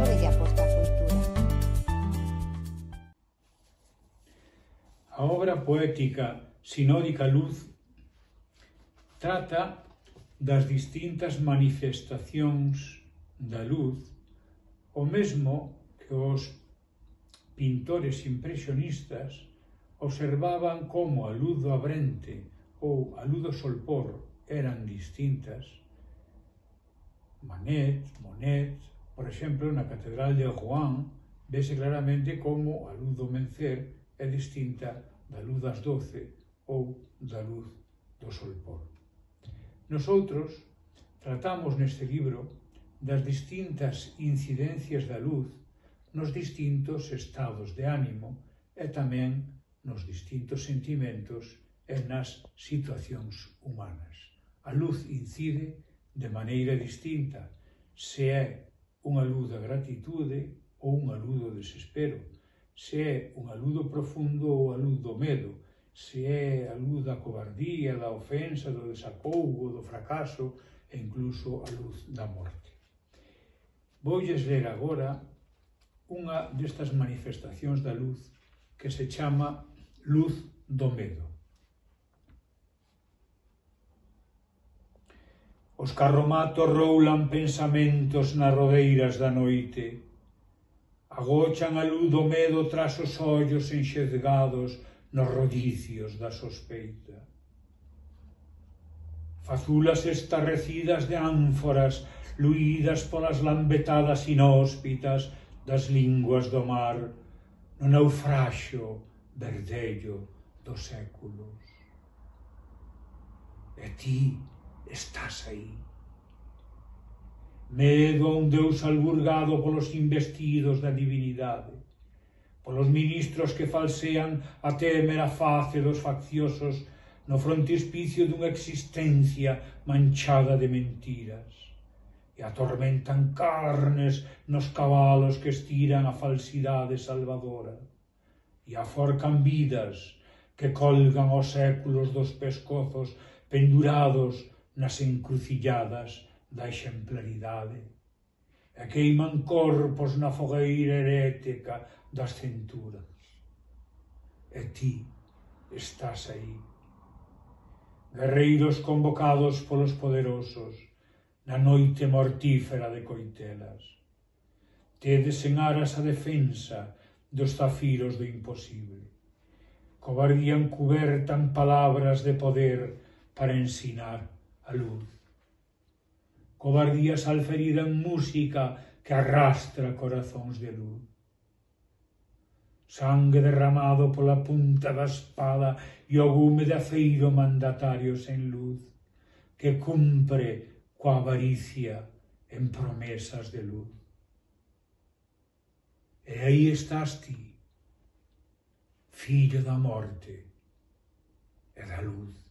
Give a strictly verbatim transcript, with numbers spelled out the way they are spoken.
Ábrelle a porta á cultura. A obra poética sinódica Luz trata das distintas manifestacións da luz, o mesmo que os pintores impresionistas observaban como a luz do abrente ou a luz do solpor eran distintas. Manet, Monet, por exemplo, na Catedral de Rouen, vese claramente como a luz do mencer é distinta da luz das doce ou da luz do solpor. Nosoutros tratamos neste libro das distintas incidencias da luz nos distintos estados de ánimo e tamén nos distintos sentimentos e nas situacións humanas. A luz incide de maneira distinta, se é unha luz da gratitude ou unha luz do desespero, se é unha luz do profundo ou a luz do medo, se é a luz da cobardía, da ofensa, do desacougo, do fracaso e incluso a luz da morte. Voulles ler agora unha destas manifestacións da luz que se chama luz do medo. Os carromatos roulan pensamentos nas rodeiras da noite, agochan a luz do medo tras os ollos enxezgados nos rodicios da sospeita. Fazulas estarrecidas de ánforas luídas polas lambetadas inhóspitas das linguas do mar no naufraxio verdello dos séculos. E ti estás aí. Medo a un Deus alburgado polos investidos da divinidade, polos ministros que falsean a témera face dos facciosos no frontispicio dunha existencia manchada de mentiras, e atormentan carnes nos cabalos que estiran a falsidade salvadora, e aforcan vidas que colgan os séculos dos pescozos pendurados nas encrucilladas da exemplaridade, e queiman corpos na fogueira herética das cinturas. E ti estás aí. Guerreiros convocados polos poderosos na noite mortífera de coitelas. Tedes en aras a defensa dos zafiros do imposible. Cobardía encuberta en palabras de poder para ensinar a luz. Cobardía salferida en música que arrastra corazóns de luz. Sangue derramado pola punta da espada e o gume de aceiro mandatario sen luz, que cumpre coa avaricia en promesas de luz. E aí estás ti, fillo da morte e da luz.